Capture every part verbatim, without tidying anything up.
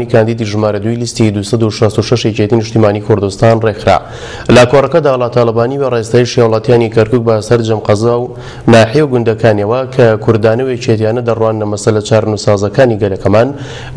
کاندیدی ژمارە دووی لیستی دوو سەد و شەست و شەش یەکێتی نیشتیمانی کوردستان ڕێکخرا. لە کۆڕەکەدا ئاڵا تاڵەبانی و ڕێستایشی هاوڵاتیانی کەرکوک بە سەرجەم قەزا و ناحیە و گوندەکانیەوە کە کوردانە و یەکێتیانە دەڕواننە مەسەلە چارەنووسسازەکانی گەلەکەمان،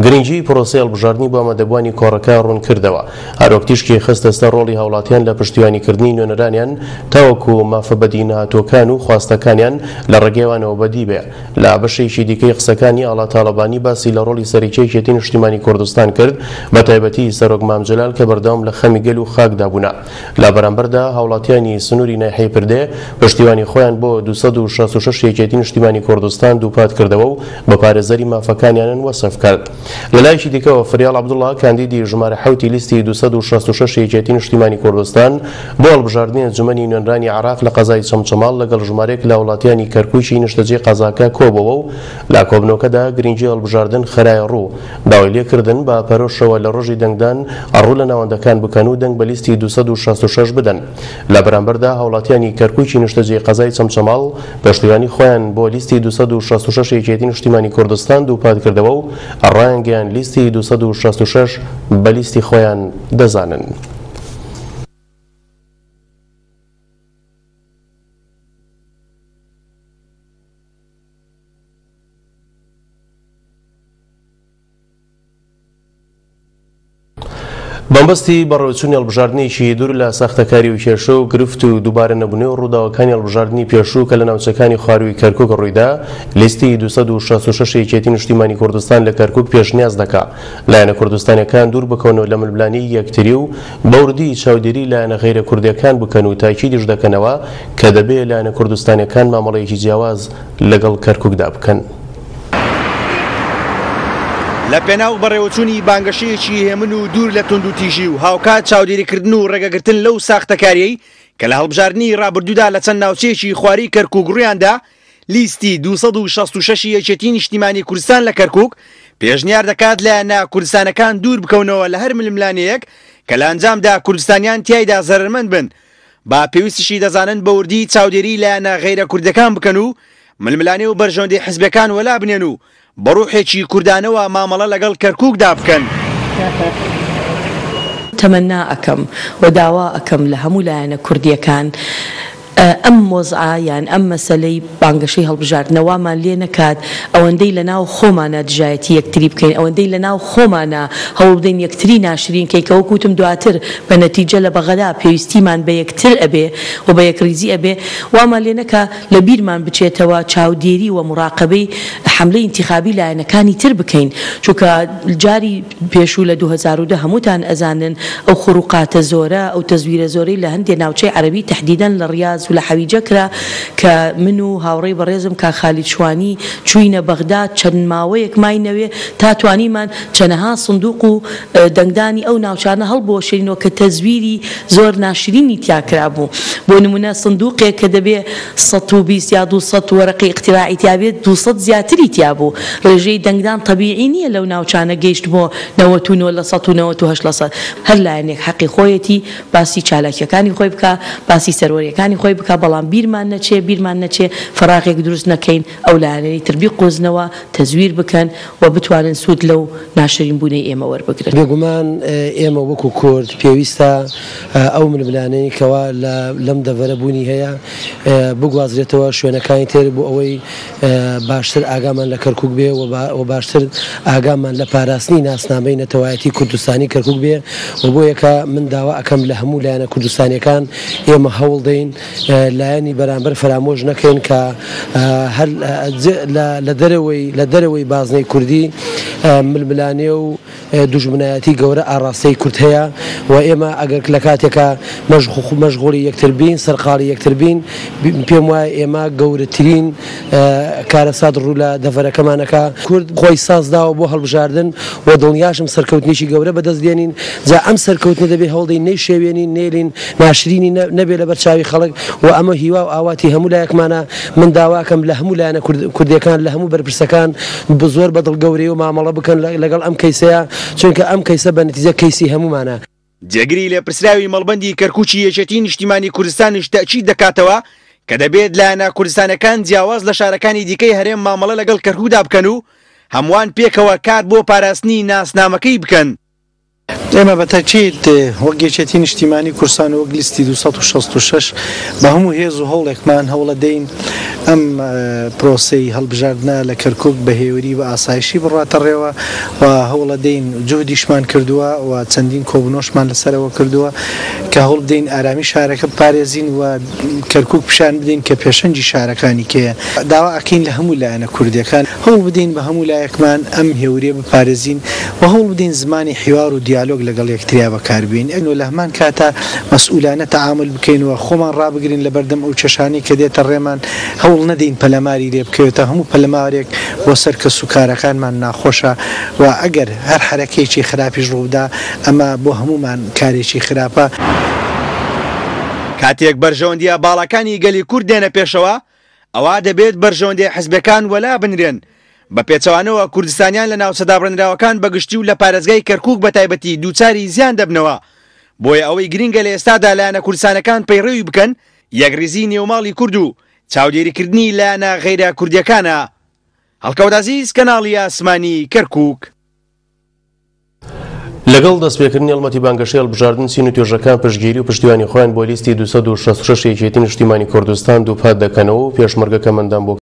گرنگی پرۆسەی هەڵبژاردنی بۆ ئامادەبووانی کۆڕەکە ڕوون کردەوە. هەروەک تیشکی خستە سەر ڕۆڵی هاوڵاتیان لە پشتیوانیکردنی نوێنەرانیان تاوەکو مافە بەدینەهاتووەکان و خواستەکانیان لە ڕێگەیوانەوە بەدی بێ. لە بەشێکی دیکەی قسەکانی ئاڵا تاڵەبانی باسی لە ڕۆڵی سەرەکی یەکێتی نیشتیمانی کوردستان کرد، بە تایبەتی سەرۆک مام جەلال کە بەردەوام لە خەمی گەل و خاکدا بوونە. لە بەرامبەردا هاوڵاتیانی سنووری ناحیەی پردێ پشتیوانی خۆیان بۆ دوو سەد و شەست و شەش یەکێتی نیشتیمانی کوردستان دووپات کردەوە و بە پارێزەری مافەکانیانن وەسف کرد. لە لایەکی دیکەوە فریاڵ عەبدوڵڵا کاندیدی ژمارە حەوتی لیستی دوو سەد و شەست و شەش یەکێتی نیشتیمانی کوردستان بۆ هەڵبژاردنی ئەنجومەنی نوێنرانی عێراق لە قەزای چەمچەماڵ لەگەڵ ژمارەیەک لە وڵاتیانی کەرکوکی نیشتەجێی قەزاکە کۆبەوە و لە کۆبنەوەکەدا گرنگی هەڵبژاردن خرایە ڕوو. داوای لێکردن بە پەرۆشەوە لە ڕۆژی دەنگدان ڕوو لە ناوەندەکان بکەن و دەنگ بە لیستی دوو سەد و شەست و شەش بدەن. لە بەرامبەردا هاوڵاتیانی کەرکوکی نیشتەجێی قەزای چەمچەماڵ پشتیوانی خۆیان بۆ لیستی دوو سەد و شەست و شەش یەکێتی نیشتیمانی کوردستان دووپات کردەوە و ڕایانگەیان لیستی دوو سەد و شەست و شەش بە لیستی خۆیان دەزانن. بەمبەستی بەڕێوەچوونی هەڵبژاردنێکی دوور لە ساختەکاری و کێشە و گرفت و دووبارە نەبوونەوە و ڕووداوەکانی هەڵبژاردنی پێشوو کە لە ناوچەکانی خوارووی کەرکوک ڕوویدا، لیستی دوو سەد و شەست و شەش یەکێتی نیشتیمانی کوردستان لە کەرکوک پێشنیاز دەکا لایەنە کوردستانیەکان دوور بکەونەوە لە ململانێی یەکتری و بەوردی چاودێری لایەنە غەیرە کوردیەکان بکەن و تاکیدیش دەکەنەوە کە دەبێ لایەنە کوردستانیەکان مامەڵەیەکی جیاواز لەگەڵ کەرکوکدا بکەن. لە پێناو بەڕێوەچوونی بانگەشەیەکی هێمن و دوور لە توندوتیژی و هاوکات چاودێریکردن و ڕێگەگرتن لەو ساختەکاریەی کە لە هەڵبژاردنی ڕابردوودا لە چەند ناوچەیەکی خواری کەرکوک ڕوویاندا، لیستی دوو سەد و شەست و شەش یەکێتی نیشتیمانی کوردستان لە کەرکوک پێشنیار دەکات لایەنە کوردستانەکان دوور بکەونەوە لە هەر ململانێیەک کە لە ئەنجامدا کوردستانیان تیایدا زەرەرمەند بن. با پێویستیشی دەزانن بە وردی چاودێری لایەنە غەیرە کوردەکان بکەن و ململانێ و بەرژەوەندی حزبەکان وەلا بنێن و بە ڕوحێکی کوردانەوە مامەڵە لەگەڵ کەرکوکدا بکەن. تەمەنا ئەکەم و داوا ئەکەم لە هەموو لایەنە کوردیەکان ئەم وەزعە یان ئەم مەسەلەی بانگەشەی هەڵبژاردنەوەمان لێ نەکات، ئەوەندەی لە ناو خۆمانە دژایەتی یەکتری بکەین، ئەوەندەی لە ناو خۆمانە هەوڵ بدەین یەکتری ناشرین کەی کە وەکوتم دواتر بە نەتیجە لە بەغەدا پێویستیمان بە یەکتر ئەبێ و بە یەکریزی ئەبێ، وامان لێ نەکا لە بیرمان بچێتەوە چاودێری و مراقبەی حملەی انتخابی لایەنەکانی تر بکەین، چونکە جاری پێشوو لە دوو هەزار و دە هەمووتان ئەزانن ئەو خروقاتە زۆرە، ئەو تەزویرە زۆرەی لە هەندێک ناوچەی عەرەبی تەحدیدەن لە ڕیاز و لە حەویجە کرا کە من و هاوڕێی بەڕێزم کاک خالید شوانی چووینە بەغدا چەند ماوەیەک ماینەوێ تا توانیمان چەنەها سندوق و دەنگدانی ئەو ناوچانە هەڵبوەشێنەوە کە تەزویری زۆر ناشرینی تیا کرابوو. بۆ نمونە سندوقێک کە دەبێ سەد و بیست یا دوو سەد وەرەقەی اقتراعی تیا بێت، دوو سەد زیاتری تیا بوو. ڕێژەی دەنگدان طبیعی نییە لەو ناوچانە گەیشت بۆ نەوەت و نۆ لە سەد و نەوەت و هەشت لە سەد. هەر لایەنێک حەقی خۆیەتی باسی چالاکیەکانی خۆی بکە، باسی سەروەریەکانی خۆی بکە، بەڵام بیرمان نەچێ، بیرمان نەچێ فراغێک دروست نەکەین ئەو لایەنەی تر بیقۆزنەوە، تەزویر بکەن و بتوانن سوود لەو ناشرین بوونەی ئێمە وەربگرن. بێگومان ئێمە وەکو کورد پێویستە ئەو ململانەی کەوا لەم دەڤەرە بوونی هەیە بگوازرێتەوە شوێنەکانی تر بۆ ئەوەی باشتر ئاگامان لە کەرکوک بێ و باشتر ئاگامان لە پاراستنی ناسنامەی نەتەوایەتی کوردستانی کەرکوک بێ. و بۆ یەکە من داوا ئەکەم لە هەموو لایەنە کوردستانیەکان ئێمە هەوڵ دەین لایەنی بەرامبەر فەرامۆش نەکەین کە هەر لە دەرەوەی لە دەرەوەی بازنەی کوردی ململانێ و دوژمنایەتی گەورە ئاراستەی کورد هەیە و ئێمە ئەگەر لە کاتێکە مەشغوڵی یەکتر بین، سەرقاڵی یەکتر بین، پێم وایە ئێمە گەورەترین کارەسات ڕوو لە دەڤەرەکەمانەکە. کورد خۆی سازداوە بۆ هەڵبژاردن و دڵنیاشم سەرکەوتنێکی گەورە بەدەست دێنین. جا ئەم سەرکەوتنە دەبێ هەوڵدەین نەیشێوێنین، نێلین ناشرینی نەبێ لەبەر چاوی خەڵک و ئەمە هیوا و ئاواتی هەموو لایەکمانە. من داواکەم لە هەموو لایەنە کوردیەکان، لە هەموو بەرپرسەکان زۆر بەدڵ گەورەی و مامەڵە بکەن لەگەڵ ئەم کەیسەیە، چونکە ئەم کەیسە بە نەتیجە کەیسی هەمومانە. جێگری لێپرسراوی مەڵبەندی کەرکوکی یەکێتی نیشتیمانی کوردستانیش تەئکید دەکاتەوە کە دەبێت لایەنە کوردستانەکان جیاواز لە شارەکانی دیکەی هەرێم مامەڵە لەگەڵ کەرکوکدا بکەن و هەمووان پێکەوە کار بۆ پاراستنی ناسنامەکەی بکەن. ئێمە بە تەکید وەک یەکێتی نیشتیمانی کوردستان وەک لیستی دوو سەد و شەست و شەش بە هەموو هێز و هەوڵێکمان هەوڵە دەین ئەم پرۆسەی هەڵبژاردنە لە کەرکوک بە هێوری و ئاسایشی بڕاتە ڕێوە و هەوڵە دەین جوهدیشمان کردووە و چەندین کۆبوونەوەشمان لەسەرەوە کردووە کە هەوڵ بدەین ئارامی شارەکە بپارێزین و کەرکوک پیشان بدەین کە پێشەنگی شارەکانی کێیە. داوا ئەکەین لە هەموو لایەنە کوردیەکان هەوڵ بدەین بە هەموو لایەکمان ئەم هێوریە بپارێزین و هەوڵ بدەین زمانی حیوار و دیالۆگ لەگەڵ یەکتریا بەکاربین و لە هەمان کاتا مەسئولانە تەعامل بکەین و خۆمان ڕابگرین لە بەردەم ئەو کێشانەی کە دێتە ڕێمان، هەوڵ نەدەین پەلەماری لێ بکەوێتە. هەموو پەلەمارێک بۆ سەر کەس و کارەکانمان ناخۆشە و ئەگەر هەر حرەکەیەکی خراپیش ڕووبدا ئەمە بۆ هەمومان کارێکی خراپە. کاتێک بەرژەوەندیە باڵاکانی گەلی کورد دێنە پێشەوە، ئەوە دەبێت بەرژەوەندی حزبەکان وەلا بنرێن. بە پێچەوانەوە کوردستانیان لە ناوچە دابڕێنراوەکان بەگشتی و لە پارێزگای کەرکوک بە تایبەتی دووچاری زیان دەبنەوە. بۆیە ئەوەی گرنگە لە ئێستادا لایەنە کوردستانەکان پەیڕەوی بکەن یەکڕیزی نێوماڵی کورد و چاودێریکردنی لایەنە غەیرە کوردیەکانە. هەڵکەوت عەزیز، کەناڵی ئاسمانی کەرکوک. لەگەڵ دەستپێکردنی هەڵمەتی بانگەشەی هەڵبژاردن چین و توێژەکان پشتگیری و پشتیوانی خۆیان بۆ لیستی دوو سەد و شەست و شەش یەکێتی نیشتیمانی کوردستان دووپات دەکەنەوە و پێشمەرگە کەمەندان بۆ